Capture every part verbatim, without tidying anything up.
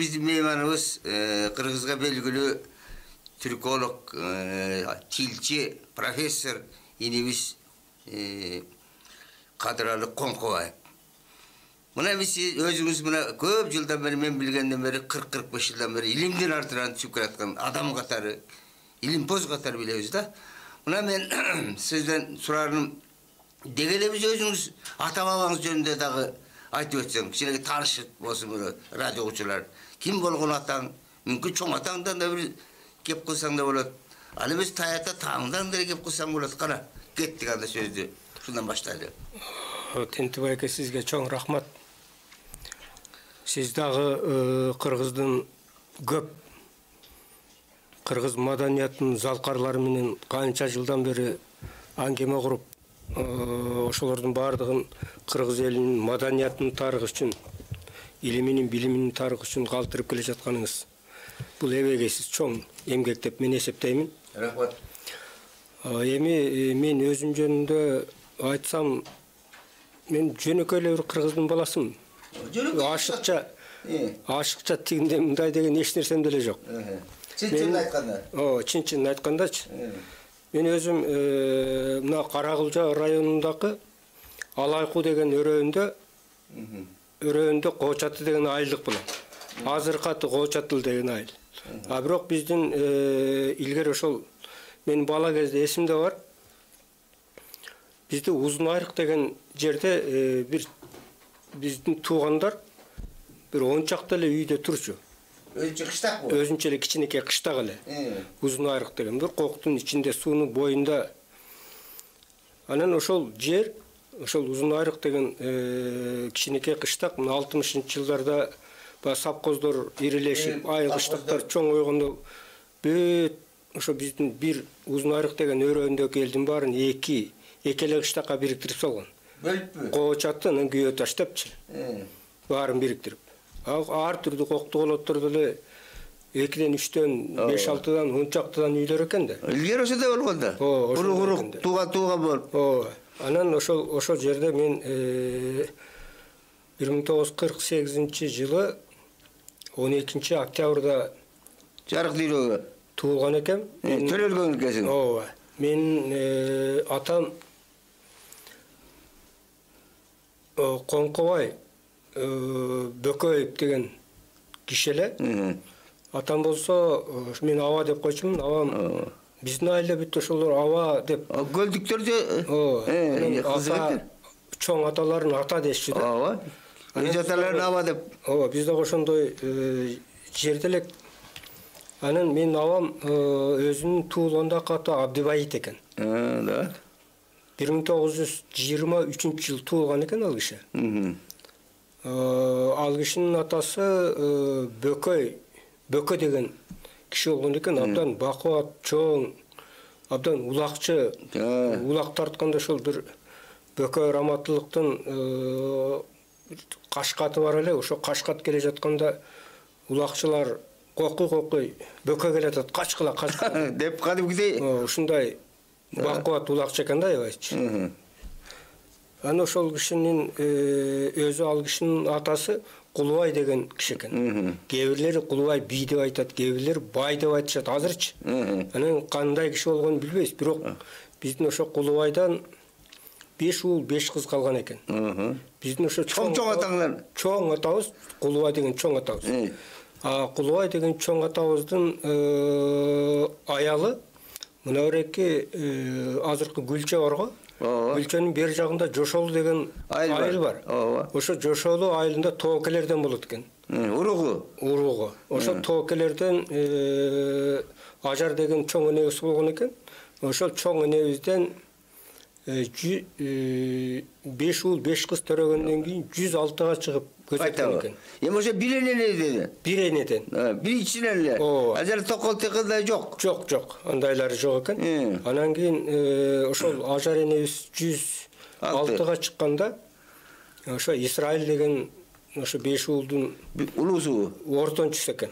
биздин мейманыбыз Кыргызга белгилүү түрколог, тилчи, профессор инебиз Кадыралы Коңкобаев. Мына биз өзүңүз мына көп жылдан бери, мен билгенден бери кырк кырк беш жылдан бери илимдин артынан түшүп келаткан адам катары, илимпоз катары билебиз да. Мына мен сизден сурарым, деги эле биз өзүңүз ата бабаңыз жөнүндө дагы айтып өтсөң, кичине таанышып болсун радио угуучулар. Ким болгон атаң? Мүмкүн чоң атаңдан да бир кеп кылсаң да болот. Ал эмес таята тааңдан да кеп кылсаң болот. Кана, кеттик анда сөздү. Шундан баштайлы. Тентибай эке, сизге чоң рахмат. Сиз дагы Кыргыздын көп кыргыз маданиятынын залкарлары менен канча жылдан бери аңгеме куруп, ошолордун баардыгын кыргыз элинин маданиятынын тарыхы үчүн, илиминин, билиминин тарыхы үчүн калтырып келе жатканыңыз бул эбегейсиз чоң эмгек деп мен эсептеймин. Рахмат. Эми мен өзүм жөнүндө айтсам, мен жөнөкөй эле бир кыргыздын баласымын. Ашыкча, ашыкча тигиндей мындай деген эч нерсем деле жок. Чын-чын айтканда. О, чын-чын айткандачы. Мен өзүм мына Каракылжа районундагы Алайку деген өрөөндө, өрөөндө Кочаты деген айылдык болот. Азыркы аты Кочатыл деген айыл. А бирок биздин илгери ошол мен бала кезде эсимде бар. Бизде Узун Айрык деген жерде бир биздин туугандар бир он чакты эле үйдө турчу. Өзүнчө кыштак бул. Өзүнчө эле кичинекей кыштак эле. Узун Айрык деген бир коктун ичинде, суунун боюнда. Анан ошол жер, ошол Узун Айрык деген кичинекей кыштак алтымышынчы жылдарда ба сапкоздор ирилешип, айыл кыштактар чоңойгондо бүт ошо биздин бир Узун Айрык деген өрөөндөгү элдин баарын эки эки эле кыштакка бириктирип салган. Бөлүппү? Кочатын күйө таштапчы. Баарын бириктирип. Ар түрдүү коктуголотторду эле экиден, үчтөн, беш алтыдан, он чактыдан үйлөр экен да. Илгери ошондой болгон да. Урук-урук, тууга-тууга болуп. Ооба. Анан ошол ошол жерде мен бир миң тогуз жүз кырк сегизинчи жылы он экинчи октябрда жарык дүйрөгө туулган экем. Төрөлгөн экенсиң. Ооба. Менин атам Коңкобай Бөкөев деген киши эле. Атам болсо мен Аба деп койчумун. Абам биздин айылда бүт ошолор Аба деп. Көлдүктөрдө ата чоң аталарын ата дешчү да. Ооба. Өз аталарын Аба деп. Ооба, биз дагы ошондой жерде элек. Анан менин абам өзүнүн туулгандагы аты Абдыбайыт экен. Да. бир миң тогуз жүз жыйырма үчүнчү жылы туулган экен ал киши. Ал кишинин атасы Бөкөй, Бөкө деген киши болгон экен. Абдан бакубат, чоң, абдан улакчы, улак тартканда ошол бир Бөкөй Раматылыктын кашкаты бар эле. Ошо кашкат келе жатканда улакчылар кокуй-кокуй Бөкө келатат, качкыла, качкыла деп кадимкидей. Ушундай бакубат улакчы экен да, аябайчы. Анан ошол кишинин өзү ал кишинин атасы Кулубай деген киши экен. Кээ бирлери Кулубай би деп айтат, кээ бирлери бай деп айтышат азырчы. Анан кандай киши болгонун билбейбиз, бирок биздин ошо Кулубайдан беш уул, беш кыз калган экен. Биздин ошо чоң атаңдар. Чоң атабыз Кулубай деген чоң атабыз. А Кулубай деген чоң атабыздын аялы мына береки азыркы Гүлчө барго. Гүлчөнүн бер жагында Жошолу деген айыл бар. Ошо Жошолу айылында тоокелерден болот экен. Уругу. Уругу. Ошо тоокелерден Ажар деген чоң энебиз болгон экен. Ошол чоң энебизден беш уул, беш кыз төрөгөндөн кийин жүз алтыга чыгып көзөткөн экен. Эми ошо бир энеден. Бир энеден. Биринчиден эле. Ажар токол текилде жок. Жок, жок. Андайлары жок экен. Анан кийин ошол Ажар энебиз жүз алтыга чыкканда ошо Исраил деген ошо беш уулдун улуусу ортончусу экен.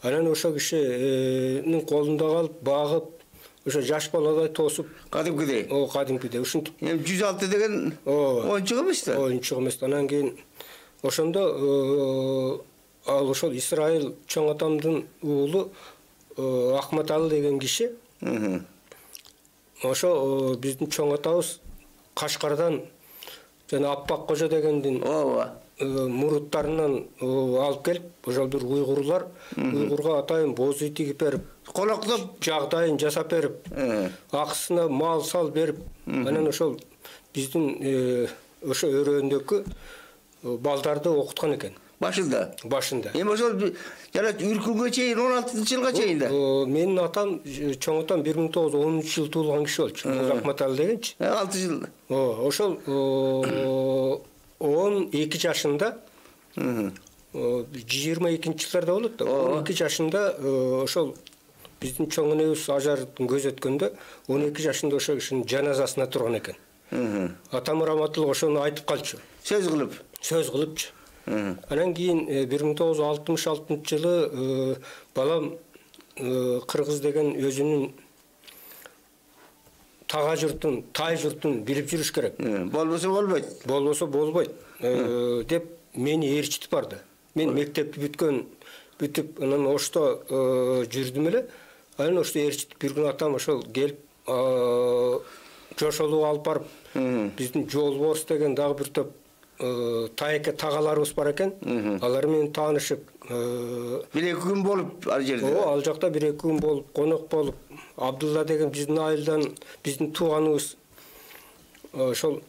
Анан ошо кишинин колунда калып, багып, ошо жаш баладай тосуп, кадимкидей. О, кадимкидей. Ушинтип. Эми жүз алты деген оюнчук эмес да. Оюнчук эмес. Анан кийин ошондо ал ошол Исраил чоң атамдын уулу Ахматалы деген киши. Ошо биздин чоң атабыз Кашкардан жана Аппак Кожо дегендин ооба муруттарынан алып келип, ошол бир уйгурлар уйгурга атайын боз үй тигип берип, колоктоп жагдайын жасап берип, акысына мал сал берип, анан ошол биздин ошо өрөөндөгү балдарды окуткан экен. Башында. Башында. Эми ошол жана үркүнгө чейин он алтынчы жылга чейин да. Менин атам, чоң атам бир миң тогуз жүз онунчу жылы туулган киши болчу. Ахматалы дегенчи. алты жыл. Ошол он эки жашында, жыйырма экинчи жылдарда болот да. он эки жашында ошол биздин чоң энебиз ажардын көзү өткөндө он эки жашында ошо кишинин жаназасына турган экен. Атам раматылык ошону айтып калчу. Сөз кылып. Сөз кылыпчу. Анан кийин бир миң тогуз жүз алтымыш алтынчы жылы балам Кыргыз деген өзүнүн тага журтун, тай журтун билип жүрүш керек. Болбосо болбойт. Болбосо болбойт деп мени ээрчитип барды. Мен мектепти бүткөн, бүтүп анан Ошто жүрдүм эле. Анан Ошто ээрчитип бир күнү атам ошол келип жошолуп алып барып, биздин Жолборс деген дагы бир топ тайке тагаларыбыз бар экен. Алар менен таанышып, бир эки күн болуп ал жерде. О, ал жакта бир эки күн болуп, конок болуп, Абдулла деген биздин айылдан, биздин тууганыбыз ошол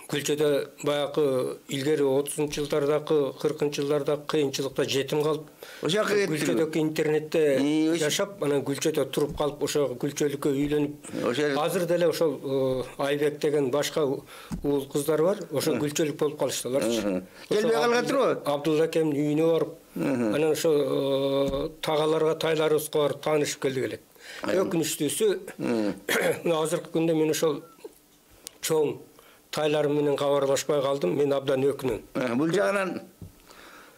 Күлчөдө баягы илгери отузунчу жылдардагы, кыркынчы жылдардагы кыйынчылыкта жетим калып, ошол Күлчөдөгү интернетте жашап, анан Күлчөдө туруп калып, ошо Күлчөлүккө үйлөнүп, азыр деле ошол Айбек деген башка уул кыздар бар, ошо Күлчөлүк болуп калыштыларчы. Келбей калган турбу? Абдулла акемдин үйүнө барып, анан ошо тагаларга, тайларыбызга барып таанышып келдик элек. Өкүнүчтүүсү, азыркы күндө мен ошол чоң тайларым менен кабарлашпай калдым, мен абдан өкүнөм. Бул жагынан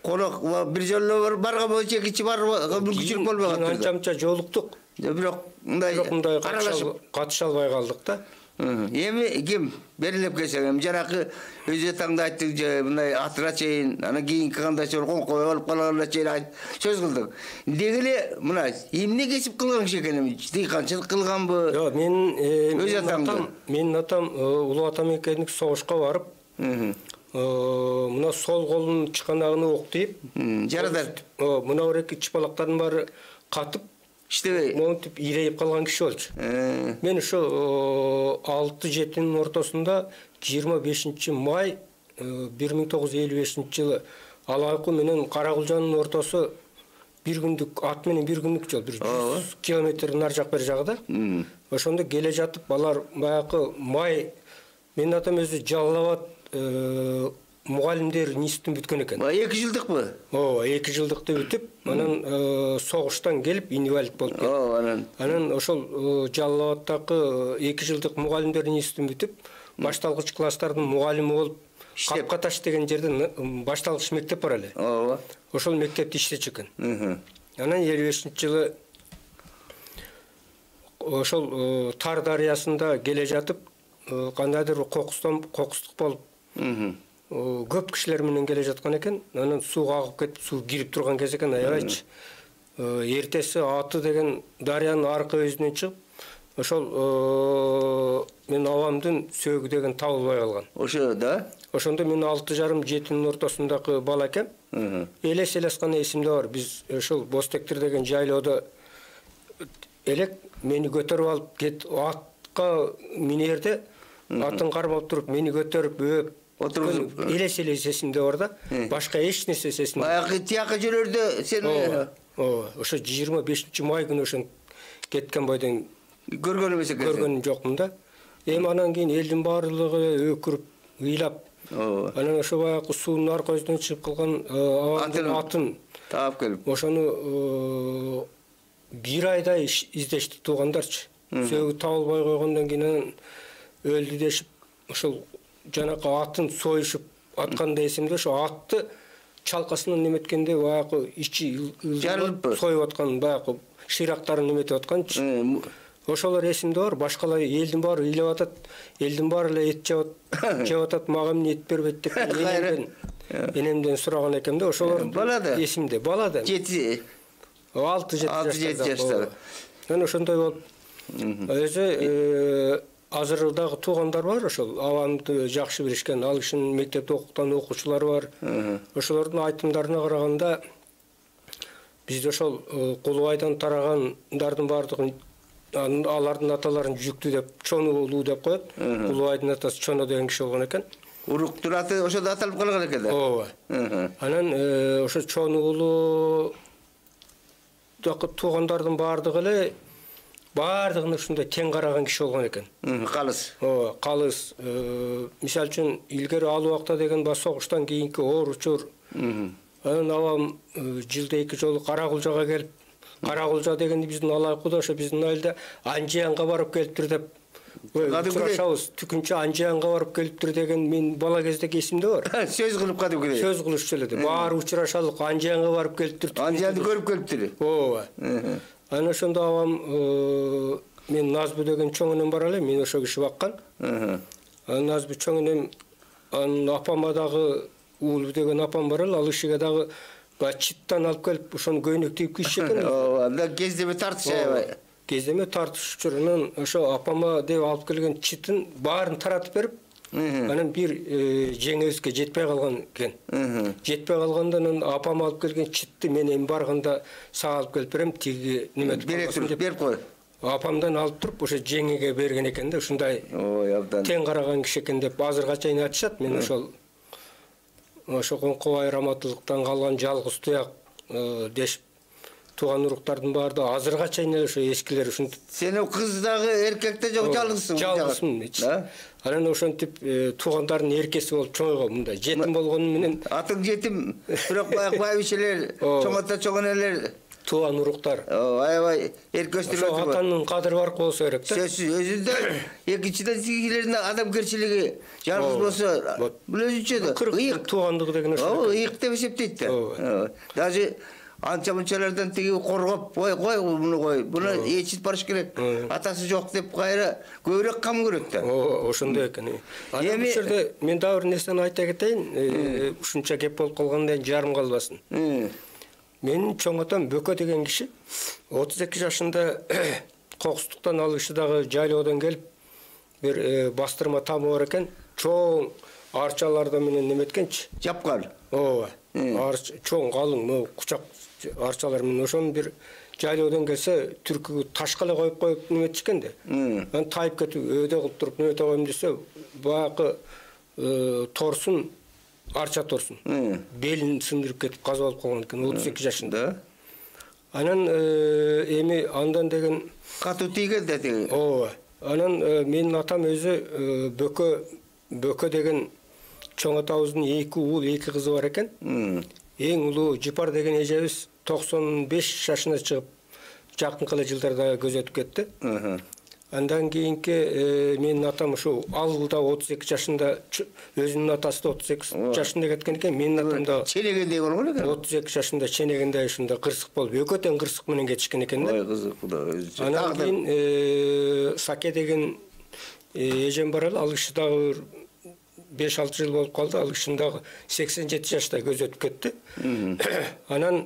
конок бир жолу барган болчу, экинчи барга мүмкүнчүлүк болбой калды. Анча-мынча жолуктук. Бирок мындай катыша албай калдык да. Эми ким берилип келсең, эми жанакы өзү таңда айттың же мындай атыра чейин, анан кийинки кандайча бир коңкой болуп калганына чейин сөз кылдың. Деги эле мына эмне кесип кылган киши экен, эми дыйканчылык кылганбы? Жок, мен өз атам, менин атам улуу атам экендик согушка барып, мына сол колунун чыканагына ок тийип, жарадар. Мына бир эки чыпалактардын баары катып, иштебей, монтип ирейип калган киши болчу. Мен ошо алты жетинин ортосунда жыйырма бешинчи май бир миң тогуз жүз элүү бешинчи жылы Алайку менен Каракулжанын ортосу бир күндүк ат менен бир күндүк жол, бир жүз километр нар жак бер жагда. Ошондо келе жатып алар баягы май, менин атам өзү Жалал Абад мугалимдер институтун бүткөн экен. эки жылдыкпы? Ооба, эки жылдыкты бүтүп, анан согуштан келип инвалид болуп кетти. Ооба, анан. Анан ошол Жалал Абадтагы эки жылдык мугалимдер институтун бүтүп, башталгыч класстардын мугалими болуп, Капкаташ деген жерде башталгыч мектеп бар эле. Ооба. Ошол мектепти иштечү экен. Анан элүү бешинчи жылы ошол Тар дарыясында келе жатып, кандайдыр бир кокустан кокустук болуп, көп кишилер менен келе жаткан экен. Анан сууга агып кетип, суу кирип турган кез экен, аябайчы. Эртеси Аты деген дарыянын аркы өзүнөн чыгып, ошол мен абамдын сөөгү деген табылбай калган. Ошо да? Ошондо мен алты жарым жетинин ортосундагы бала экем. Элес элес гана эсимде бар. Биз ошол Бостектир деген жайлоодо элек мени көтөрүп алып кет атка минерде, атын кармап туруп, мени көтөрүп өп отуруп элес элес эсимде бар да. Башка эч нерсе эсимде. Баягы тияка жөнөрдө сен ооба, ошо жыйырма бешинчи май күнү ошон кеткен бойдон көргөн эмес экенсиң. Көргөнүм жокмун да. Эми анан кийин элдин баардыгы өкүрүп, ыйлап, анан ошо баягы суунун аркы өзүнөн чыгып калган атын таап келип, ошону бир айдай издешти туугандарчы. Сөөгү табылбай койгондон кийин анан өлдү дешип, ошол жанакы атын союшуп атканда эсимде, ошо атты чалкасынан неметкенде баягы ичи жарылып союп аткан, баягы шыйрактарын неметип атканчы. Ошолор эсимде бар, башкалар элдин баары ыйлап атат, элдин баары эле эт жеп атат, мага эмне эт бербейт деп. энемден сураган экем да, ошолор балада эсимде. Балада. жети алты жети жаштагы. Мен ошондой болуп өзү азыр дагы туугандар бар, ошол абамды жакшы билишкен, ал кишинин мектепте окуткан окуучулары бар. Ошолордун айтымдарына караганда бизде ошол Кулубайдан тарагандардын баардыгын алардын аталарын жүктүү деп, чону уулуу деп коет. Кулубайдын атасы Чоно деген киши болгон экен. Уруктун аты ошондо аталып калган экен да. Ооба. Анан ошо чону уулуу дагы туугандардын баардыгы эле баардыгына ушундай тең караган киши болгон экен. Калыс. Ооба, калыс. Мисалы үчүн илгери ал убакта деген ба согуштан кийинки оор учур. Анан абам жылда эки жолу Каракулжага келип, Каракулжа дегенди биздин алайкуда ошо биздин айылда Анжиянга барып келиптир деп сурашабыз. Түкүнчө Анжиянга барып келиптир деген мен бала кездеги эсимде бар. Сөз кылып кадимгидей. Сөз кылышчу эле. Баары учурашалык Анжиянга барып келиптир. Анжиянды көрүп келиптир. Ооба. Анан ошондо абам мен Назбы деген чоң энем бар эле, мен ошо киши баккан. Анан Назбы чоң энем анын апама дагы Уулу деген апам бар эле, ал кишиге дагы читтан алып келип ошону көйнөк тийип кийишчү экен. Ооба, анда кездеме тартыш аябай. Кездеме тартышчу. Анан ошо апама деп алып келген читин баарын таратып берип, анан бир жеңебизге жетпей калган экен. Жетпей калганда анан апам алып келген читти мен эми барганда сага алып келип берем, тиги неме деп берип кой. Апамдан алып туруп ошо жеңеге берген экен да, ушундай ой абдан тең караган киши экен деп азырга чейин айтышат. Мен ошол ошо Коңкобай Раматылыктан калган жалгыз туяк дешип тууган уруктардын баардыгы азырга чейин ошо эскилер ушинтип. Сен кыз дагы эркек да жок, жалгызсың. Жалгызмын. Анан ошентип туугандардын эркеси болуп чоңойгом мындай. Жетим болгону менен атың жетим, бирок баягы байбичелер, чоң ата чоң энелер тууган уруктар. Аябай эркөстүрүп отурат. Ошо атанын кадыры бар болсо керек да. Сөзсүз өзүндө экинчиден сигилердин адамгерчилиги жалгыз болсо бул өзүнчө да ыйык туугандыгы деген ошо. Ооба, ыйык деп эсептейт да. Даже анча-мунчалардан тиги коргоп, кой кой муну кой, буну ээчит барыш керек. Атасы жок деп кайра көбүрөөк кам көрөт да. Ооба, ошондой экен. Анан бул жерде мен дагы бир нерсени айта кетейин, ушунча кеп болуп калганда жарым калбасын. Менин чоң атам Бөкө деген киши отуз эки жашында кокустуктан ал киши дагы жайлоодон келип бир бастырма тамы бар экен. Чоң арчаларда менен неметкенчи? Жапкан. Ооба. Арча чоң калың, могу кучак арчалар менен ошонун бир жайлоодон келсе түркүгө ташка эле коюп коюп неметишкен да. Анан тайып кетип өйдө кылып туруп немете коем десе, баягы торсун арча торсун. Белин сындырып кетип каза болуп калган экен отуз эки жашында. Анан эми андан деген катуу тийген да тиги. Ооба. Анан менин атам өзү Бөкө Бөкө деген чоң атабыздын эки уул, эки кызы бар экен. Эң улуу Жипар деген эжебиз токсон беш жашына чыгып, жакынкы эле жылдарда көз өтүп кетти. Андан кийинки менин атам ушу ал да отуз эки жашында, өзүнүн атасы да отуз эки жашында кеткен экен. Менин атам да ченегендей болгон экен. отуз эки жашында ченегендей ушунда кырсык болуп, экөө тең кырсык менен кетишкен экен да. Ой, кызык куда өзү. Анан кийин Саке деген эжем бар эле, ал киши дагы беш алты жыл болуп калды. Ал кишинин дагы сексен жети жашта көз өтүп кетти. Анан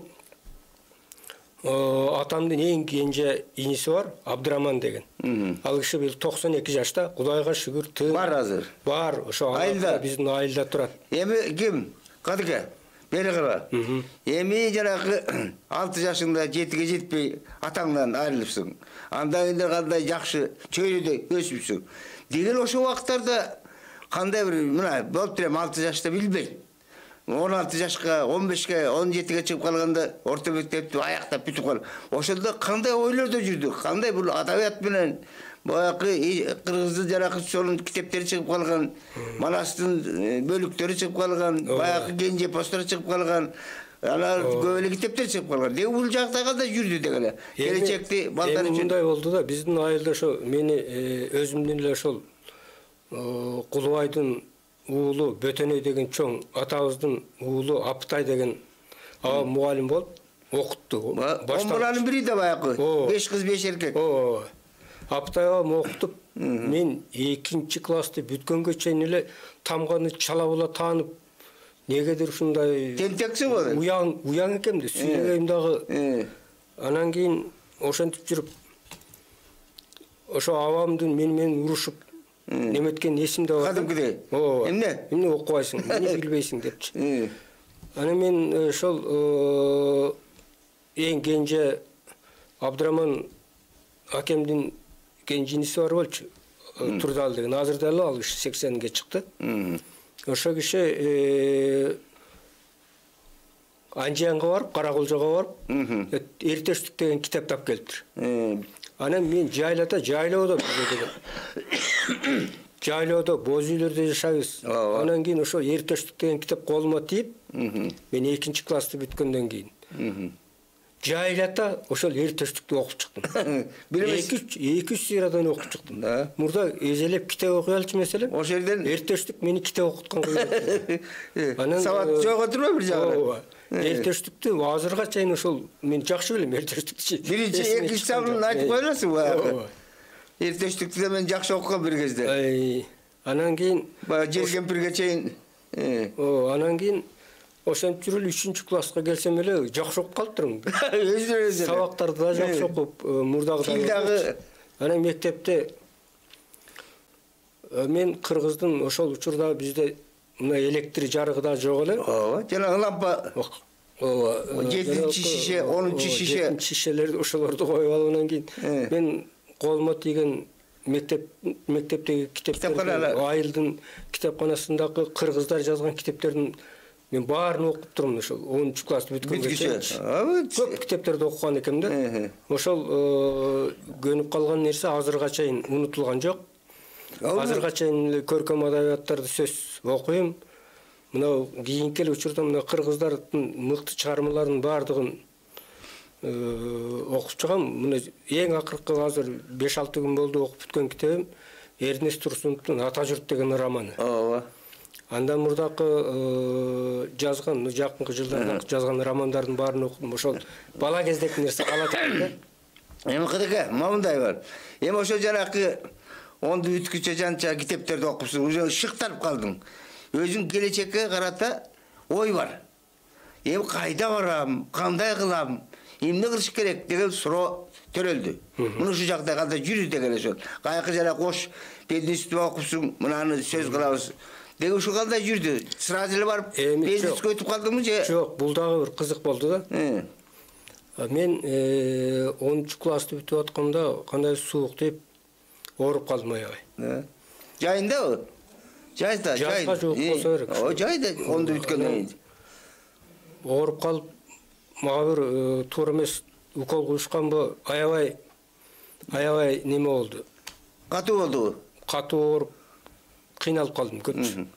атамдын эң кенже иниси бар, Абдыраман деген. Ал киши бул токсон эки жашта, Кудайга шүгүр, тын. Бар азыр. Бар, ошо айылда, биздин айылда турат. Эми ким? Кадыка. Бери кара. Эми жанагы алты жашыңда жетиге жетпей атаңдан айрылыпсың. Андан кийин кандай жакшы чөйрөдө өсүпсүң. Деген ошо убакыттарда кандай бир мына болуп турам алты жашта билбейм. он алты жашка, он бешке, он жетиге чыгып калганда орто мектепти аяктап бүтүп калып. Ошондо кандай ойлордо жүрдү? Кандай бул адабият менен баягы кыргыздын жаракы сонун китептери чыгып калган, Манастын бөлүктөрү чыгып калган, баягы Кенже постору чыгып калган, алар көп эле китептер чыгып калган. Деги бул жакта кандай жүрдү деген эле. Келечекти балдар үчүн мындай болду да, биздин айылда ошо мени өзүмдүн эле ошол Кулубайдын уулу Бөтөнөй деген чоң атабыздын уулу Аптай деген абам мугалим болуп окутту. Башталанын бири да баягы беш кыз беш эркек. Ооба. Аптай абам окутуп, мен экинчи классты бүткөнгө чейин эле тамганы чала була таанып, негедир ушундай тентексиң болот. Уяң, уяң экем да сүйлөгөйм дагы. Анан кийин ошентип жүрүп ошо абамдын мени менен урушуп неметкен эсимде бар. Кадимкидей. Ооба. Эмне? Эмне окубайсың, эмне билбейсиң депчи. Анан мен ошол эң кенже Абдыраман акемдин кенжиниси бар болчу. Турдал деген. Азыр дагы ал киши сексенге чыкты. Ошо киши Анжиянга барып, Каракулжага барып, Эртештик деген китап тап келиптир. Анан мен жайлата, жайлоодо деген. Жайлоодо боз үйлөрдө жашайбыз. Анан кийин ошо Эртештик деген китап колума тийип, мен экинчи классты бүткөндөн кийин жайлата ошол Эртештикти окуп чыктым. эки үч сыйрадан окуп чыктым. Мурда эзелеп китеп окуй алчу маселе. Ошол жерден Эртештик мени китеп окуткан койду. Анан сабат жок отурбайбы бир жагынан? Эртештикти азырга чейин ошол мен жакшы билем Эртештикти. Биринчи экинчи сабын айтып коеласың баягы. Эртештикти да мен жакшы окугам бир кезде. Анан кийин баягы жер кемпирге чейин. О, анан кийин ошентип жүрүп үчүнчү класска келсем эле жакшы окуп калыптырмын. Өзү өзү. Сабактарды да жакшы окуп, мурдагы дагы. Анан мектепте мен кыргыздын ошол учурда бизде мына электр жарыгы да жок эле. Ооба, жана лампа. Ооба. жетинчи шише, онунчу шише. жетинчи шишелерди ошолорду коюп алып анан кийин мен колума тийген мектеп мектептеги китептерди, Айылдын китепканасындагы кыргыздар жазган китептердин мен баарын окуп турмун ошол онунчу классты бүткөнгө чейин. Көп китептерди окуган экем да. Ошол көнүп калган нерсе азырга чейин унутулган жок. Азырга чейин көркөм адабияттарды сөз окуйм. Мына кийинки учурда мына кыргыздардын мыкты чыгармаларынын баардыгын окуп чыгам. Мына эң акыркы азыр беш алты күн болду окуп бүткөн китебим Эрнест Турсуновдун Ата журт деген романы. Ооба. Андан мурдакы жазган, жакынкы жылдарда жазган романдардын баарын окудум. Ошол бала кездеги нерсе калат экен да. Эми кыдыка, мындай бар. Эми ошо жанакы онду бүткүчө жанча китептерди окупсуң, уже шыктарып калдың. Өзүң келечекке карата ой бар. Эми кайда барам, кандай кылам, эмне кылыш керек деген суроо төрөлдү. Муну ушу жакта кандай жүрү деген ошол. Кайкы жана кош пединститут окупсуң, мынаны сөз кылабыз. Деги ушу кандай жүрдү? Сразу эле барып пединститутка өтүп калдыңбы же? Жок, бул дагы бир кызык болду да. Мен онунчу классты бүтүп атканда кандай суук деп ооруп калдым аябай. Жайындабы? Жайда, жайда. Жайга жок болсо керек. О, жайда онду бүткөндөн кийин. Ооруп калып, мага бир туура эмес укол куюшканбы, аябай аябай неме болду. Катуу болдубу? Катуу ооруп, кыйналып калдым көпчү.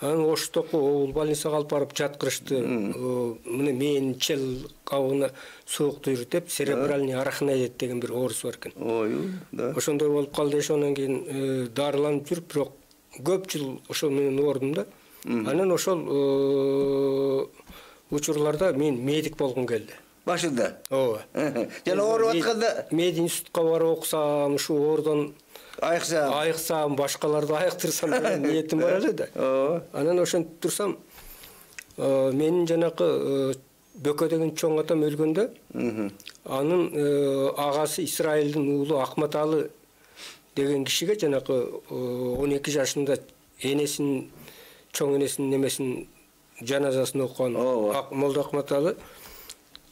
Анан Оштоку обул больницага алып барып жаткырышты. Мына мен чел кабыгына суук үйрүт деп церебральный арахноид деген бир оорусу бар экен. Ой, да. Ошондой болуп калды, ошондон кийин дарыланып жүрүп, бирок көп жыл ошол менен оордум да. Анан ошол учурларда мен медик болгум келди. Башында. Ооба. Жана ооруп атканда мединститутка барып окусам, ушу оордон айыксам, айыксам, башкаларды айыктырсам деген ниетим бар эле да. Анан ошентип турсам, менин жанакы Бөкө деген чоң атам өлгөндө, анын агасы Исраилдин уулу Акматалы деген кишиге жанакы он эки жашында энесин, чоң энесинин немесин жаназасын окуган Молда Акматалы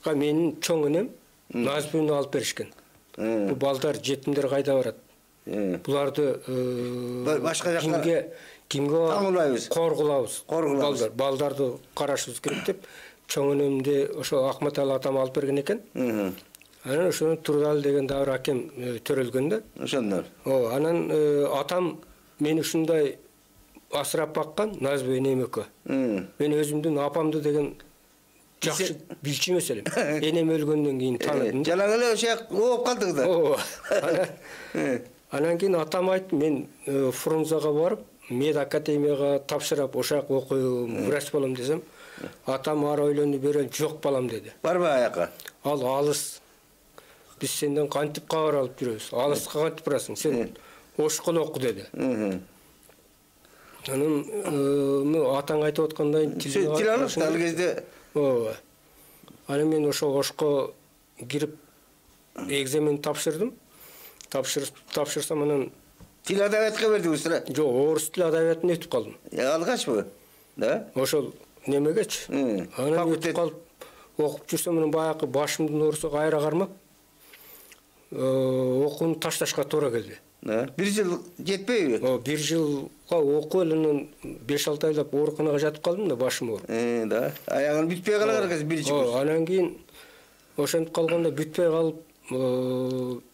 менин чоң энем Назбүнү алып беришкен. Бу балдар, жетимдер кайда барат? Буларды башка жакка кимге кимге таңылбайбыз, коргулабыз. Балдар, балдарды карашыбыз керек деп чоң энемди ошо Акматалы атам алып берген экен. Анан ошону Турдал деген дагы бир акем төрөлгөн да. Ошондор. О, анан атам мени ушундай асырап баккан Назбүй энемекө. Мен өзүмдүн апамды деген жакшы билчү эмес элем. Энем өлгөндөн кийин тааныдым. Жалаң эле ошо ооп калдык да. Ооба. Анан кийин атам айтты, мен Фрунзага барып, мед академияга тапшырып, ошак окуйм, врач болом десем, атам ары ойлонду берен, жок балам деди. Барбы аяка? Ал алыс. Биз сенден кантип кабар алып жүрөбүз? Алыска кантип барасың? Сен ошкол оку деди. Анан мына атаң айтып аткандай тил алып ал кезде. Ооба. Анан мен ошо Ошко кирип экзамен тапшырдым. Тапшыр тапшырсам анан тил адабиятка бердиңиз да? Жок, орус тил адабиятын өтүп калдым. Алгачпы? Да? Ошол немегечи. Анан өтүп калып окуп жүрсөм анан баягы башымдын оорусу кайра кармап окууну ташташка туура келди. Бир жыл жетпейби? О, бир жылга окуп анан беш алты айлап ооруканага жатып калдым да, башым ооруп. Э, да. Аягын бүтпөй калган экен бир жыл. Анан кийин ошентип калганда бүтпөй калып,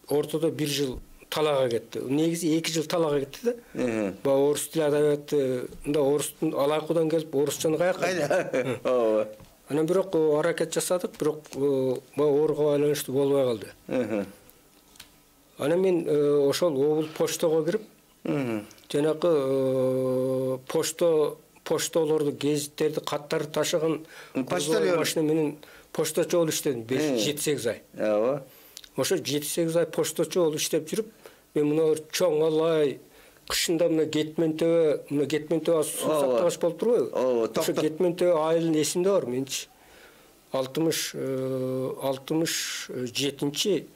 ортодо бир жыл талаага кетти. Негизи эки жыл талаага кетти да. Баа орус тил адабиятында орустун алайкудан келип орусчаны каяка? Кайда? Ооба. Анан бирок аракет жасадык, бирок баа ооруга байланыштуу болбой калды. Анан мен ошол обул почтого кирип, жанагы почто поштолорду, гезиттерди, каттарды ташыган почталер машина менен поштачы болуп иштедим жети сегиз ай. Ооба. Ошо жети сегиз ай поштачы болуп иштеп жүрүп, мен мына чоң алай кышында мына Кетмен төбө, мына Кетмен төбө суу сактагыч болуп турбайбы? Ооба, ошо Кетмен төбө айылын эсимде бар менчи. алтымыш алтымыш жетинчи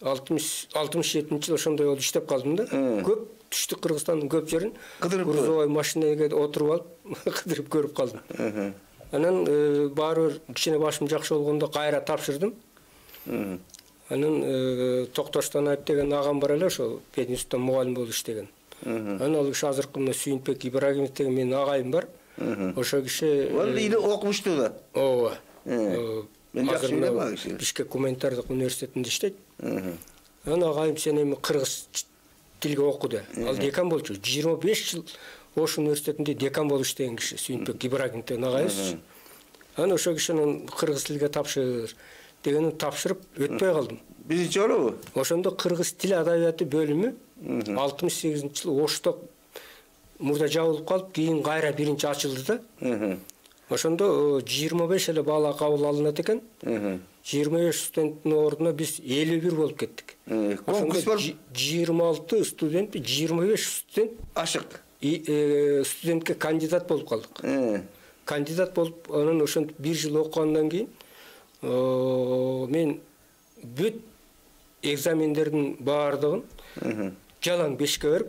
алтымыш жетинчи жыл ошондой болуп иштеп калдым да. Көп түштүк Кыргызстандын көп жерин грузовой машинеге отуруп алып кыдырып көрүп калдым. Анан баары бир кичине башым жакшы болгондо кайра тапшырдым. Анан Токтоштон айып деген агам бар эле, ошо пединститутта мугалим болуп иштеген. Анан ал киши азыркы мына Сүйүнбек Ибрагимов деген менин агайым бар. Ошо киши ал эле окумуштуу да. Ооба. Мен жакшы билем ал киши. Бишкек гуманитардык университетинде иштейт. Анан агайым сен эми кыргыз тилге оку де. Ал декан болчу. жыйырма беш жыл Ош университетинде декан болуп иштеген киши, Сүйүнбек Ибрагимов деген агайыбыз. Анан ошо кишинин кыргыз тилге тапшыр дегенин тапшырып өтпөй калдым. Биринчи жолу? Ошондо кыргыз тил адабияты бөлүмү алтымыш сегизинчи жылы Ошто мурда жабылып калып, кийин кайра биринчи ачылды да. Ошондо жыйырма беш эле бала кабыл алынат экен. жыйырма беш студенттин ордуна биз элүү бир болуп кеттик. Конкурс болуп жыйырма алты студент, жыйырма беш студент ашык. Студентке кандидат болуп калдык. Кандидат болуп, анан ошентип бир жыл окугандан кийин мен бүт экзамендердин баардыгын жалаң бешке берип,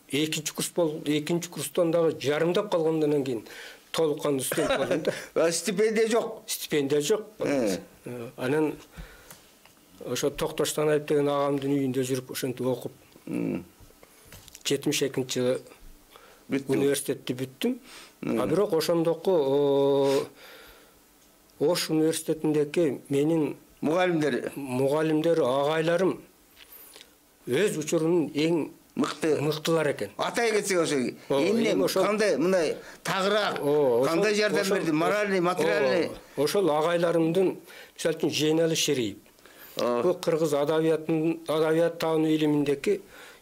экинчи курс болуп, экинчи курстан дагы жарымдап калгандан кийин толук кандуу студент болдум да. Стипендия жок. Стипендия жок. Анан ошо Токтоштон айып деген агамдын үйүндө жүрүп ошентип окуп жетимиш экинчи жылы университетти бүттүм. А бирок ошондоку Ош университетиндеги менин мугалимдер, мугалимдер, агайларым өз учурунун эң мыкты мыктылар экен. Атай кетсек ошо эмне кандай мындай тагыраак кандай жардам берди, моральный, материальный. Ошол агайларымдын, мисалы үчүн Жейнали Шериев. Бул кыргыз адабиятынын адабият таануу илиминдеги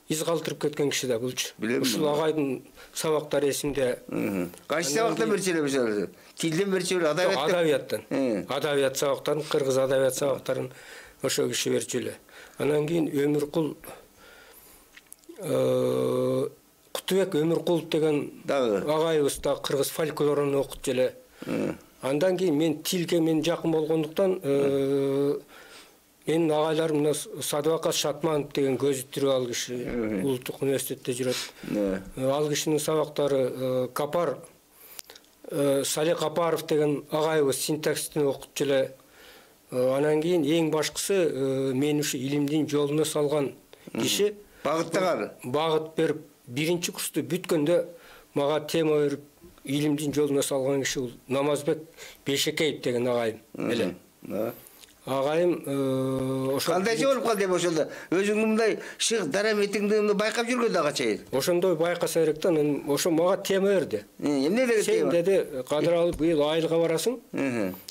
из калтырып кеткен киши да булчу. Ушул агайдын сабактары эсимде. Кайсы сабактан берчү эле мисалы? Тилден берчү эле, адабияттан? Адабияттан. Адабият сабактарын, кыргыз адабият сабактарын ошо киши берчү эле. Анан кийин Өмүркул Кутубек Өмүркулов деген агайыбыз да кыргыз фольклорун окутчу эле. Андан кийин мен тилге мен жакын болгондуктан менин агайларым мына Садыбакат Шатманов деген көзү тирүү ал киши улуттук университетте жүрөт. Ал кишинин сабактары Капар Сали Капаров деген агайыбыз синтаксистин окутчу эле. Анан кийин эң башкысы мени ушу илимдин жолуна салган киши багыттаган. Багыт берип биринчи курсту бүткөндө мага тема берип илимдин жолуна салган киши бул Намазбек Бешекеев деген агайым эле. Агайым ошо кандайча болуп калды эми ошондо? Өзүңдүн мындай шык дараметиңди байкап жүргөн дагы чейин. Ошондой байкаса керек да, ошо мага тема берди. Эмне деген Сен тема? деди, Кадыралы быйыл айылга барасың.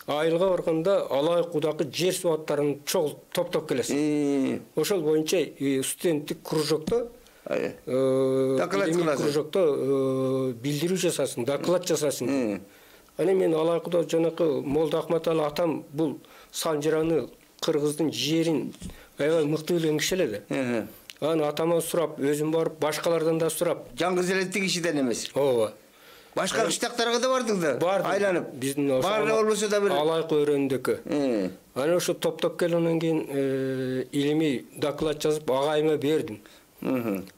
Айылга барганда Алайкудагы жер суаттарын чогултуп топтоп келесиң. Ошол боюнча студенттик кружокто доклад кыласың. Кружокто билдирүү жасасың, доклад жасасың. Аны мен Алайкуда жанакы Молда Акматалы атам бул Санжыраны, кыргыздын жерин аябай мыкты билген киши эле да. Анан атаман сурап, өзүм барып, башкалардан да сурап. Жалгыз эле тиги кишиден эмес. Ооба. Башка кыштактарга да бардың да? Бардым. Айланып. Биздин баары болбосо да бир Алайкы өрөөндөкү. Анан ошо топтоп келгенден кийин илимий доклад жазып агайыма бердим.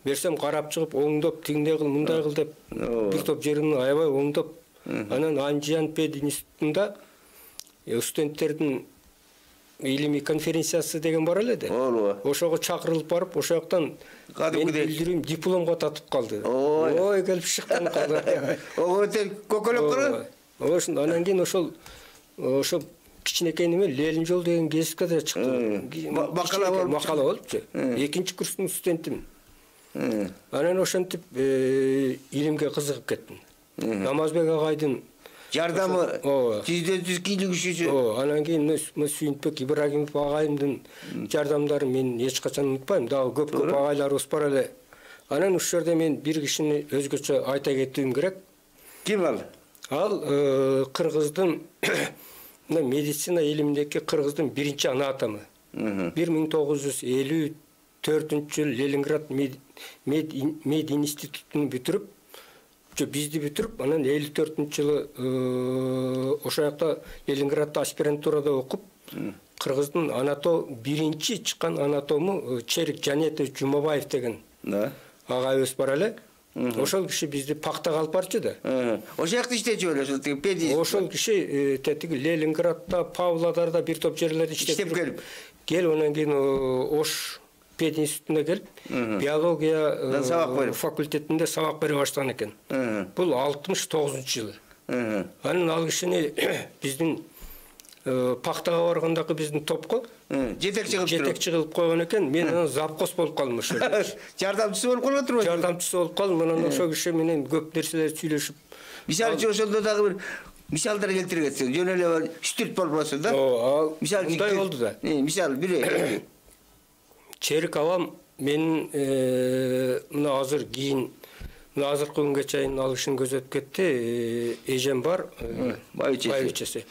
Берсем карап чыгып, оңдоп, тигиндей кыл, мындай кыл деп бир топ жерин аябай оңдоп, анан Анжан пед институтунда студенттердин илимий конференциясы деген бар эле да. Ооба. Ошого чакырылып барып, ошол жактан мен билдирүүм дипломго татып калды. Ой, келип шыктан калды. Ого, көкөлөк кылып. Ошон анан кийин ошол ошо кичинекей неме Ленин жол деген гезитке да чыкты. Макала болуп. Макала болупчу. Экинчи курстун студентимин. Анан ошентип илимге кызыгып кеттим. Намазбек агайдын жардамы жүздөн жүз кийлигишүүчү. Ооба, анан кийин Сүйүнтбек Ибрагимов агайымдын жардамдарын мен эч качан унутпайм. Дагы көп-көп агайларыбыз бар эле. Анан ушул жерде мен бир кишини өзгөчө айта кетүүм керек. Ким ал? Ал кыргыздын медицина илиминдеки кыргыздын биринчи ана атамы. бир миң тогуз жүз элүү төртүнчү жылы Ленинград мед институтун бүтүрүп, жо бизди бүтүрүп, анан элүү төртүнчү жылы ошо жакта Ленинградда аспирантурада окуп, кыргыздын анатом биринчи чыккан анатому Черик Жанетович Жумабаев деген агайыбыз бар эле. Ошол киши бизди пактага алып барчу да. Ошол жакта иштечү эле, ошол тиги педи. Ошол киши тетиги Ленинградда, Павлодарда бир топ жерлерде иштеп келип. Келип анан кийин Ош пед институтуна келип, биология факультетинде сабак бере баштаган экен. Бул алтымыш тогузунчу жылы. Анан ал кишини биздин пактага баргандагы биздин топко жетекчи кылып жетекчи кылып койгон экен. Мен анан завкос болуп калдым ошол. Жардамчысы болуп калып турбайбы? Жардамчысы болуп калдым. Анан ошол киши менен көп нерселерди сүйлөшүп. Мисалы үчүн ошондо дагы бир мисалдар келтире кетсең, жөн эле үч-төрт болбосун да. Ооба. Мындай болду да. Мисалы бир Черик абам менин мына азыр кийин мына азыркы күнгө чейин ал кишини көзөтүп кетти. Эжем бар, байбичеси.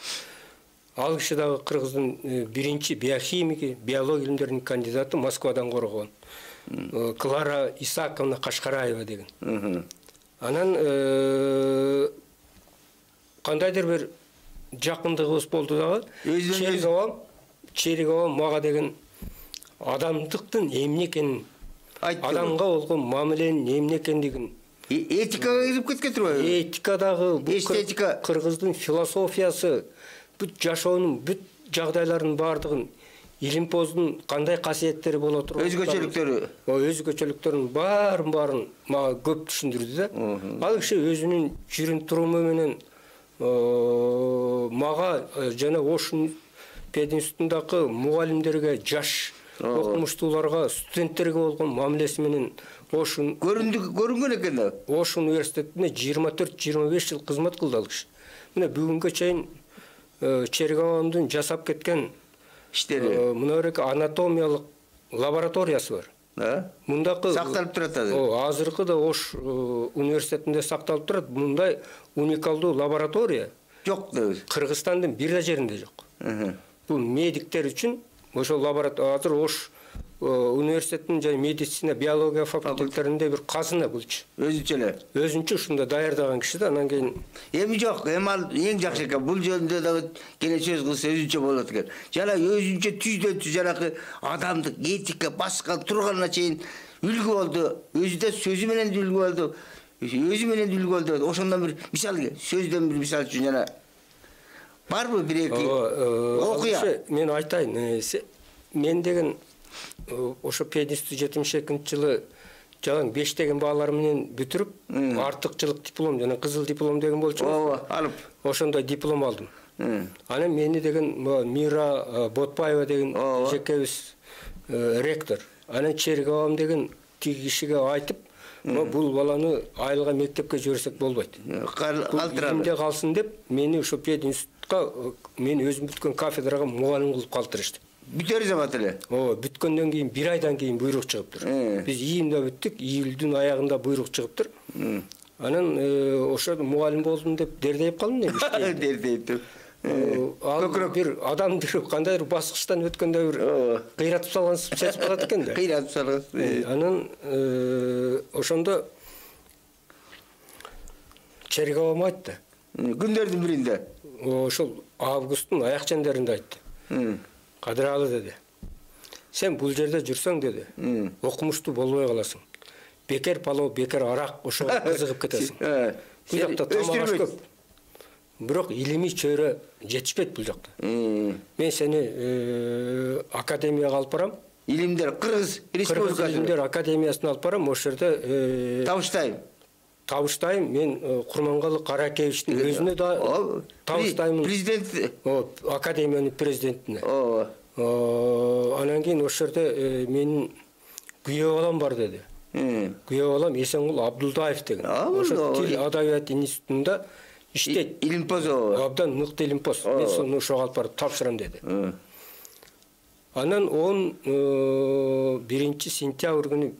Ал киши дагы кыргыздын биринчи биохимики, биология илимдеринин кандидаты, Москвадан коргон. Клара Исааковна Кашкараева деген. Анан кандайдыр бир жакындыгыбыз болду дагы. Черик абам, Черик абам мага деген адамдыктын эмне экенин, адамга болгон мамиленин эмне экендигин, этикага кирип кеткен турбайбы? Этикадагы эстетика, кыргыздын философиясы, бүт жашоонун бүт жагдайларынын баардыгын, илимпоздун кандай касиеттери боло турат, өзгөчөлүктөрү, өзгөчөлүктөрүнүн баарын баарын мага көп түшүндүрдү да. Ал киши өзүнүн жүрүм туруму менен мага жана Ош пединститутундагы мугалимдерге, жаш окумуштууларга, студенттерге болгон мамилеси менен Ош көрүнгөн экен да. Ош университетине жыйырма төрт жыйырма беш жыл кызмат кылды ал киши. Мына бүгүнгө чейин Черик абамдын жасап кеткен иштери, мына берек анатомиялык лабораториясы бар. Да? Мундакы сакталып турат азыр. О, азыркы да Ош университетинде сакталып турат. Мындай уникалдуу лаборатория жок да. Кыргызстандын бир да жеринде жок. Бул медиктер үчүн ошол лаборатория азыр Ош университетинин жана медицина, биология факультеттеринде бир казына булчу. Өзүнчө эле. Өзүнчө ушунда даярдаган киши да, анан кийин эми жок, эми ал эң жакшы экен. Бул жөнүндө дагы кene сөз кылса өзүнчө болот экен. Жана өзүнчө түздөн түз жанакы адамдык этика баскан турганына чейин үлгү болду. Өзү да сөзү менен үлгү болду. Өзү менен үлгү болду. Ошондон бир мисал сөздөн бир мисал үчүн жана барбы бир эки окуя? Мен айтайын, мен деген ошо пединститут жетимиш экинчи жылы жалаң беш деген баалар менен бүтүрүп, артыкчылык диплом жана кызыл диплом деген болчу. Ооба, алып. Ошондой диплом алдым. Анан мени деген Мира Ботпаева деген жекебиз ректор. Анан Черик абам деген тиги кишиге айтып, бул баланы айылга мектепке жиберсек болбойт. Калтырады калсын деп, мени ошо пединститутка мен өзүм бүткөн кафедрага мугалим кылып калтырышты. Бүтөр замат эле. Ооба, бүткөндөн кийин бир айдан кийин буйрук чыгыптыр. Биз июнда бүттүк, июлдун аягында буйрук чыгыптыр. Анан ошо мугалим болдум деп дердейип калдым эми. Дердейип. Ал бир адамды кандайдыр баскычтан өткөндө бир кыйратып салган сезип калат экен да. Кыйратып салган. Анан ошондо Черговому айтты. Күндөрдүн биринде. Ошол августтун аяк чендеринде айтты. Кадыралы деди. Сен бул жерде жүрсөң деди, окумуштуу болбой каласың. Бекер палоо, бекер арак ошого кызыгып кетесиң. Бул жакта тамак аш көп. Бирок илимий чөйрө жетишпейт бул жакта. Мен сени академияга алып барам. Илимдер Кыргыз Республикасы Илимдер академиясына алып барам. Ошол жерде табыштайм. Табыштайм. Мен Курмангалы Каракеевичтин өзүнө да табыштаймын. Президент. Академиянын президентине. Ооба. Анан кийин ошол жерде менин күйөө балам бар деди. Күйөө балам Эсенгул Абдулдаев деген. Ошо Тил адабият институтунда иштейт. Илимпоз. Абдан мыкты илимпоз. Мен сону ошого алып барып тапшырам деди. Анан он биринчи сентябрь күнү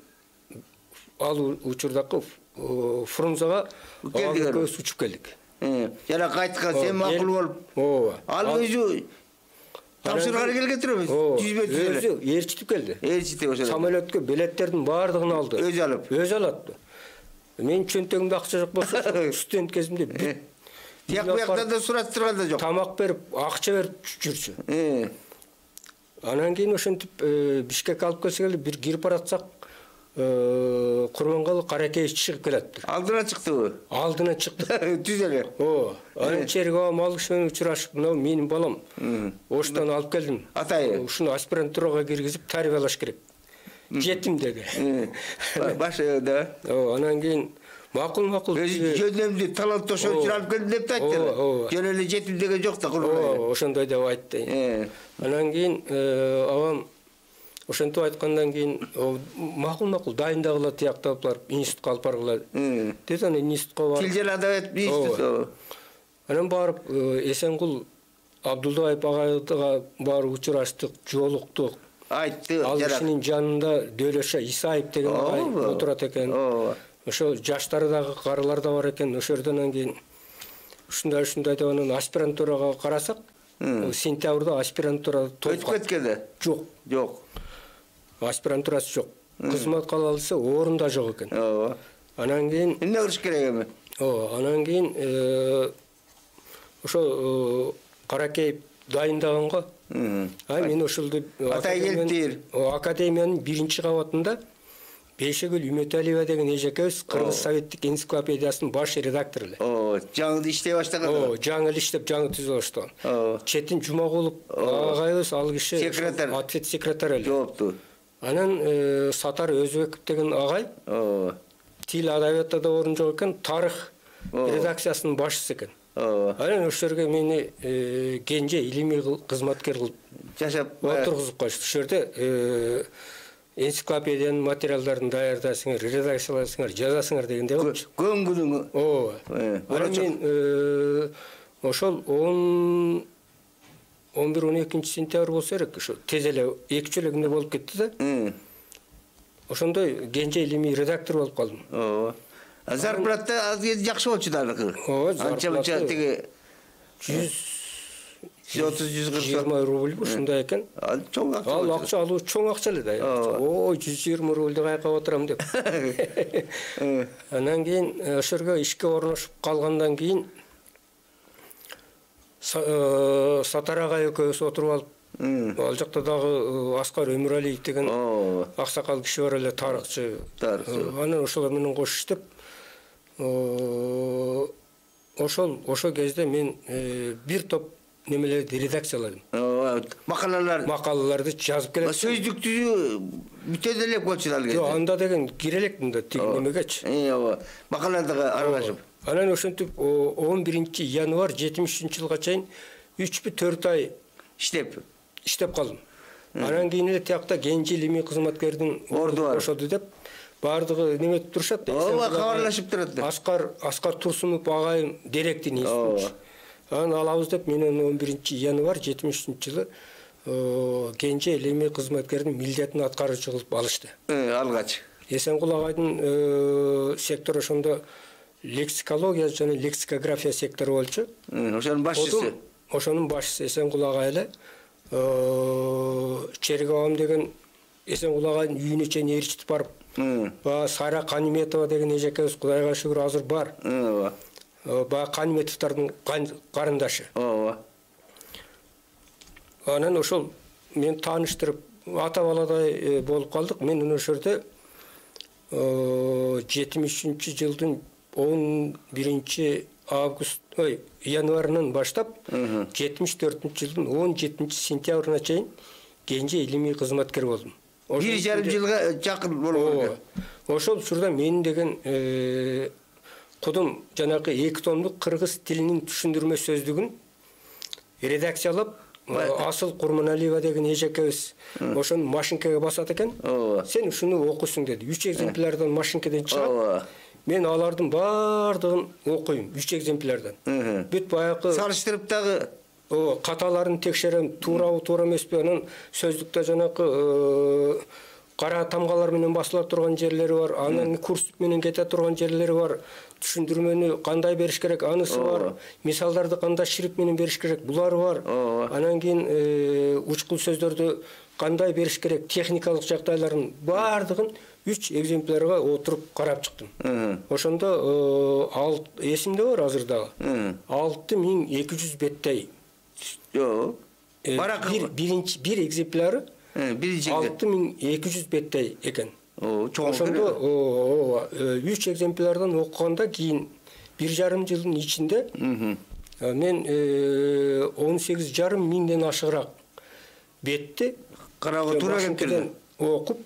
ал учурдагы Фрунзага экөөбүз учуп келдик. Жана кайткан сен макул болуп. Ооба. Ал өзү тапшырганы келген турабыз. Жүзбө түзөлө. Өзү ээрчитип келди. Ээрчитип ошо. Самолетке билеттердин баардыгын алды. Өзү алып. Өзү алат. Менин чөнтөгүмдө акча жок болсо, студент кезимде тияк буяктан да сураттырган да жок. Тамак берип, акча берип жүрчү. Анан кийин ошентип Бишкекке алып келсе келди, бир кирип баратсак, Курмангалы Каракеевич чыгып келатты. Алдына чыктыбы? Алдына чыкты. Түз эле. Ооба. Анан Черговом ал киши менен учурашып, мына менин балам. Оштан алып келдим. Атайы. Ушуну аспирантурага киргизип тарбиялаш керек. Жетим деди. Башы да. Ооба, анан кийин макул-макул. Жөнөмдү таланттошуу үчүн алып келдим деп айтты. Жөн эле жетим деген жок да Курмангалы. Ооба, ошондой деп айтты. Анан кийин абам ошентип айткандан кийин макул-макул дайындагыла тияктап барып институтка алып баргыла деди. Анан институтка барып. Тил жана адабият институту. Анан барып Эсенгул Абдулдаев агайга барып учураштык, жолуктук. Айтты. Ал кишинин жанында Дөөлөшө Исаев деген агай отурат экен. Ошо жаштары дагы карылар да бар экен. Ошол жерден кийин ушундай ушундай деп анан аспирантурага карасак, сентябрда аспирантура өтүп кеткенде. Жок. Жок. Аспирантурасы жок. Кызмат кыла алса орун да жок экен. Ооба. Анан кийин эмне кылыш керек эми? Ооба, анан кийин ошо Каракеев дайындаганга а мен ошолду атай келиптир. Академиянын биринчи кабатында Бейшегүл Үмөталиева деген эжекебиз Кыргыз советтик энциклопедиясынын баш редактору эле. Оо, жаңы иштей баштаган. Оо, жаңы иштеп, жаңы түзө баштаган. Четин Жумагулов агайыбыз ал киши секретарь, ответ секретарь эле. Жоопту. Анан Сатар Өзбеков деген агай, тил адабиятта да орун жок экен, тарых редакциясынын башчысы экен. Анан ошол жерге мени кенже илимий кызматкер кылып жашап отургузуп коюшту. Ошол жерде энциклопедиянын материалдарын даярдасыңар, редакцияласыңар, жазасыңар дегенде болчу. Көңгүлүң. Ооба. Анан мен ошол он он бир он экинчи сентябрь болсо керек, ошо тез эле эки үч эле күндө болуп кетти да. Ошондой кенже илимий редактор болуп калдым. Ооба. Зарплата азыр жакшы болчу дагы. Ооба, зарплата тиги жүз отуз жүз кырк жыйырма рубль ушундай экен. Ал чоң акча. Ал акча алуу чоң акча эле да. Ой, жүз жыйырма рубльди каяка отурам деп. Анан кийин ошол жерге ишке орношуп калгандан кийин Сатар агай экөөбүз отуруп алып, ал жакта дагы Аскар Өмүралиев деген аксакал киши бар эле, тарыхчы. Анан ошолор менен кош иштеп, ошол ошол кезде мен бир топ немелерди редакцияладым. Макалалар. Макалаларды жазып келет. Сөздүк түзүү бүтө деле болчу ал кезде. Жок, анда деген кире элекмин да тиги немегечи. Ооба. Макалаларга аралашып. Анан ошентип он биринчи январь жетимиш үчүнчү жылга чейин үч бу төрт ай иштеп иштеп калдым. Анан кийин эле тиякта кенже илимий кызматкердин орду кошоду деп баардыгы неметип турушат. Ооба, кабарлашып турат. Аскар Аскар Турсунов агайым директор институт. Анан алабыз деп менен он биринчи январь жетимиш үчүнчү жылы кенже илимий кызматкердин милдетин аткаруучу кылып алышты. Алгач. Эсенгул агайдын сектор ошондо лексикология жана лексикография сектору болчу. Ошонун башчысы. ошонун башчысы Эсенкул ага эле Черегабам деген Эсенкул аганын үйүнө чейин ээрчитип барып, баягы Сайра Каниметова деген эжекебиз Кудайга шүгүр азыр бар. Ооба. Баягы Каниметовдордун карындашы. Ооба. Анан ошол мен тааныштырып, ата баладай болуп калдык. Мен ошол жерде жетимиш үчүнчү жылдын он биринчи август, ой, январынан баштап жетимиш төртүнчү жылдын он жетинчи сентябрына чейин кенже илимий кызматкер болдум. Бир жарым жылга жакын болгон. Ошол учурда мен деген кудум жанагы эки томдук кыргыз тилинин түшүндүрмө сөздүгүн редакциялап, Асыл Курманалиева деген эжекебиз ошону машинкеге басат экен. Сен ушуну окуйсуң деди. үч экземплярдан машинкеден чыгат. Мен алардын баардыгын окуйм, үч экземплярдан. Бүт баягы салыштырып дагы каталарын текшерем, туурабы, туура эмеспи. Анан сөздүктө жанагы кара тамгалар менен басыла турган жерлери бар, анан курсуп менен кете турган жерлери бар. Түшүндүрмөнү кандай бериш керек, анысы бар. Мисалдарды кандай шрифт менен бериш керек, булары бар. Анан кийин учкул сөздөрдү кандай бериш керек, техникалык жагдайларын баардыгын үч экземплярга отуруп карап чыктым. Ошондо эсимде бар азыр дагы. алты миң эки жүз беттей. Жок. Бир биринчи бир экземпляры алты миң эки жүз беттей экен. Ошондо үч экземплярдан окуганда кийин бир жарым жылдын ичинде мен он сегиз жарым миңден ашыгыраак бетти кароого туура келип окуп,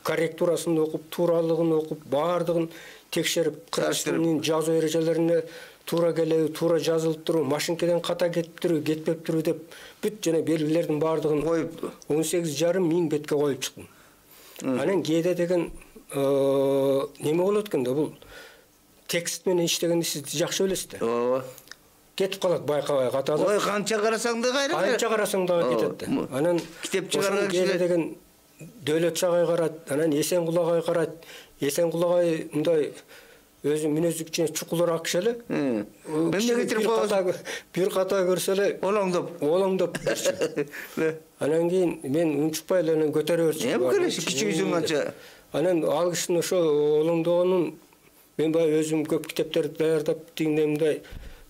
корректурасын окуп, тууралыгын окуп, баардыгын текшерип, кыргызчанын жазуу эрежелерине туура келеби, туура жазылып туру, машинкеден ката кетиптирби, кетпептирби деп бүт жана белгилердин баардыгын коюп он сегиз жарым миң бетке коюп чыктым. Анан кээде деген неме болот экен да, бул текст менен иштегенди сиз жакшы билесиз да. Ооба. Кетип калат байкабай каталып. Ой, канча карасаң да кайра. Канча карасаң дагы кетет да. Анан китеп чыгарган кээде деген Дөөлөт Чагай карайт, анан Эсенкул агай карайт. Эсенкул агай мындай өзү мүнөздүк кичине чукулураак киши эле. Бир ката көрсө эле олоңдоп, олоңдоп. Анан кийин мен унчукпай эле анан көтөрө берчү. Эми келеш кичүүсүң канча. Анан ал кишинин ошо олоңдогонун мен баягы өзүм көп китептерди даярдап тигиндей мындай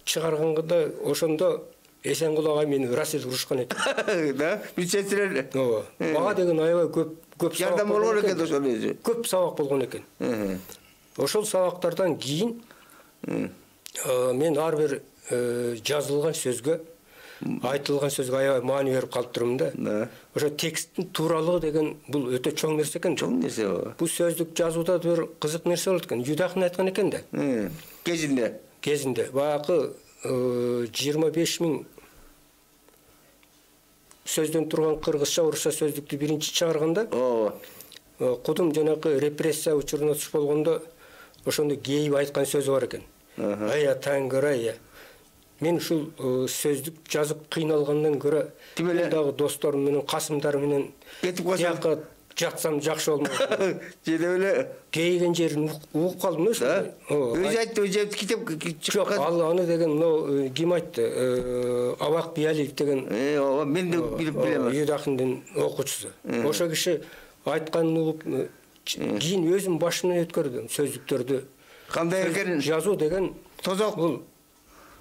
чыгарганда ошондо Эсенкул агай мени Расил урушкан экен. Да, билсеңиздер. Ооба. Мага деген аябай көп көп жардам болгон экен ошол өзү. Көп сабак болгон экен. Ошол сабактардан кийин мен ар бир жазылган сөзгө, айтылган сөзгө аябай маани берип калып турмун да. Ошо тексттин тууралыгы деген бул өтө чоң нерсе экен. Чоң нерсе ооба. Бул сөздүк жазууда бир кызык нерсе болот экен. Юдахин айткан экен да. Кезинде. Кезинде баягы жыйырма беш миң сөздөн турган кыргызча орусча сөздүктү биринчи чыгарганда, кудум жанагы репрессия учуруна туш болгондо ошондо кейип айткан сөзү бар экен. Ая таңгырай. Мен ушул сөздүк жазып кыйналгандан көрө мен дагы досторум менен, касымдар менен кетип калсам жатсам жакшы болмок. Жеде эле кейген жерин угуп калдым ошо. Өзү айтты, өзү китеп чыккан. Жок, ал аны деген мына ким айтты? Абак Биялиев деген. Э, ооба, мен да билип билем. Юдахиндин окуучусу. Ошо киши айтканын угуп кийин өзүм башымдан өткөрдүм сөздүктөрдү. Кандай экенин жазуу деген тозок бул.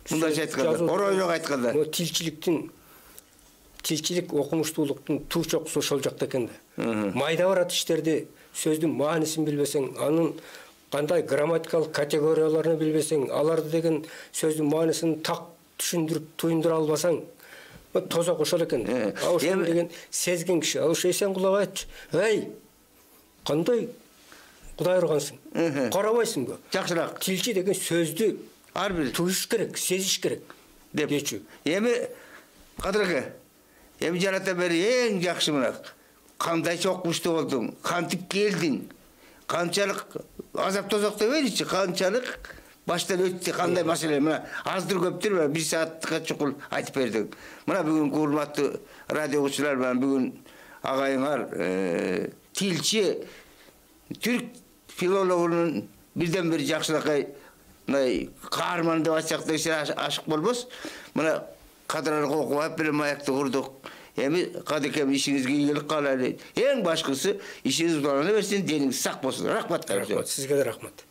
Мындайча айтканда, оройлук айтканда. Бул тилчиликтин тилчилик окумуштуулуктун туу чокусу ошол жакта экен да. Майда барат иштерди, сөздүн маанисин билбесең, анын кандай грамматикалык категорияларын билбесең, аларды деген сөздүн маанисин так түшүндүрүп, туюндура албасаң, тозок ошол экен. А ошол деген сезген киши, а ошо Эсенкул агай айтчу. Эй, кандай Кудай ургансың? Карабайсыңбы? Жакшыраак. Тилчи деген сөздү ар бир туюш керек, сезиш керек деп дечү. Эми кадыркы, эми жарата бери эң жакшы мына кандайча окумуштуу болдуң, кантип келдиң, канчалык азап тозок дебейличи, канчалык баштан өттү, кандай маселе, мына аздыр көптүр бир саатка чукул айтып бердиң. Мына бүгүнкү урматтуу радио угуучулар менен бүгүн агайыңар тилчи түрк филологунун бирден бир жакшынакай мындай каарман деп айтсак да ашык болбос. Мына кадырлык окуп алып бир маякты курдук. Эми кадыкем ишиңизге ийгилик каалайлы. Эң башкысы ишиңиз улана берсин, дениңиз сак болсун. Рахмат. Рахмат, сизге да рахмат.